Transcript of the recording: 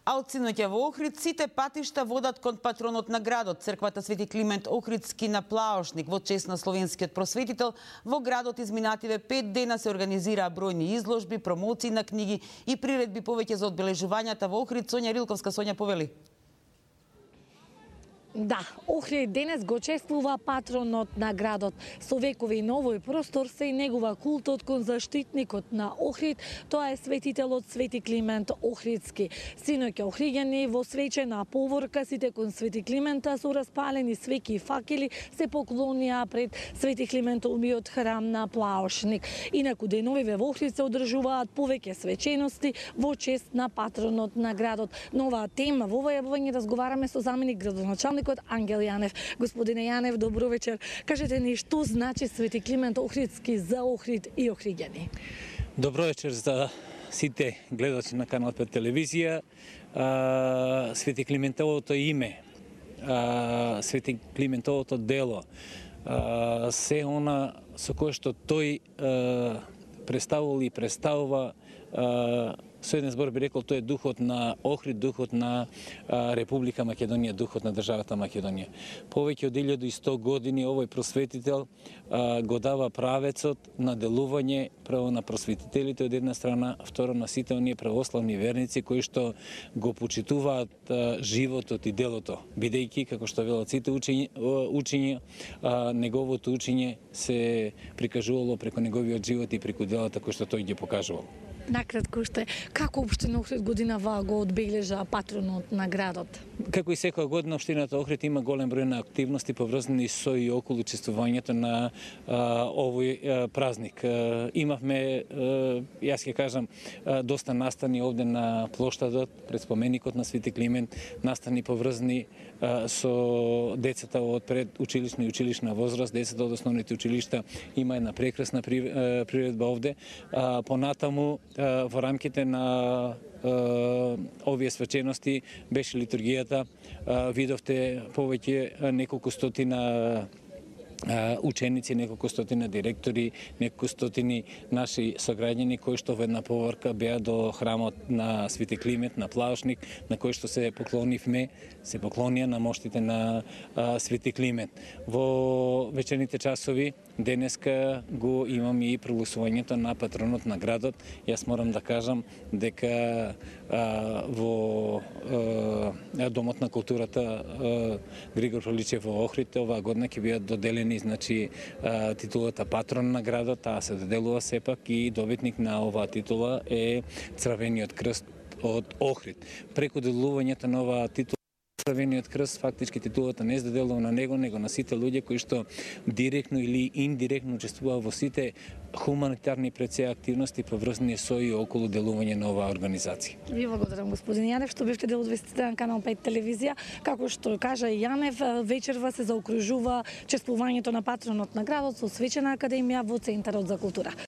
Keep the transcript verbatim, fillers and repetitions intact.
А од синоќа во Охрид сите патишта водат кон патронот на градот, црквата Свети Климент Охридски на Плаошник, во чест на словенскиот просветител. Во градот изминативе пет дена се организираа бројни изложби, промоции на книги и приредби повеќе за одбележувањата во Охрид. Сонја Рилковска, Сонја, повели. Да, Охрид денес го чествува патронот на градот. Со векови новој простор се и негува култот кон заштитникот на Охрид, тоа е светителот Свети Климент Охридски. Синоќа охриѓани во свечена поворка, сите кон Свети Климента со распалени свеќи и факели се поклонија пред Свети Климентовиот храм на Плаошник. Инаку деновиве во Охрид се одржуваат повеќе свечености во чест на патронот на градот. Нова тема во ова јавување разговараме со заменик градоначалник Ангел Јанев. Господине Јанев, добро вечер. Кажете ни што значи Свети Климент Охридски за Охрид и охриѓани? Добро вечер за сите гледачи на Канал пет телевизија. А, Свети Климентовото име, а, Свети Климентовото дело, а, се она со кое што тој а, представувал и представува, а, со еден збор би рекол, тој е духот на Охрид, духот на а, Република Македонија, духот на државата Македонија. Повеќе од илјаду и сто години овој просветител а, го дава правецот на делување право на просветителите од една страна, второ на сите оние православни верници кои што го почитуваат а, животот и делото, бидејќи, како што велат сите учења, учења а, неговото учење се прикажувало преку неговиот живот и преку делата кои што тој ги покажувал. Накратко уште, како општина Охрид годинава го одбележа патронот на градот? Како и секоја година, општината Охрид има голем број на активности поврзани со и околу чествувањето на а, овој а, празник. А, имавме, а, јас ќе кажам, а, доста настани овде на плоштадот, пред споменикот на Свети Климент, настани поврзани а, со децата од пред училишна и училишна возраст, децата од основните училишта. Има една прекрасна при, а, приредба овде. А, понатаму, во рамките на овие свечености беше литургијата. Видовте повеќе неколку стотина ученици, неколку стотина директори, неколку стотини наши сограѓани кои што во една поворка беа до храмот на Свети Климент на Плаошник, на кој што се поклонивме, се поклонија на моштите на а, Свети Климент. Во вечерните часови денеска го имаме и прогласувањето на патронот на градот. Јас морам да кажам дека а, во а, Домот на културата а, Григор Проличев во Охрид оваа година ќе бидат доделени значи титулата патрон на градот, таа се доделува сепак и добитник на оваа титула е Црвениот крст од Охрид. Преку доделувањето на оваа титула Црвениот крст, фактички титулата не се доделува на него, него на сите луѓе кои што директно или индиректно учествуваат во сите хуманитарни пред се активности поврзани со и околу делување на оваа организација. Ви благодарам, господин Јанев, што бевте дел од вестите на Канал пет телевизија. Како што кажа Јанев, вечерва се заокружува чествувањето на патронот на градот со свечена академија во Центарот за култура.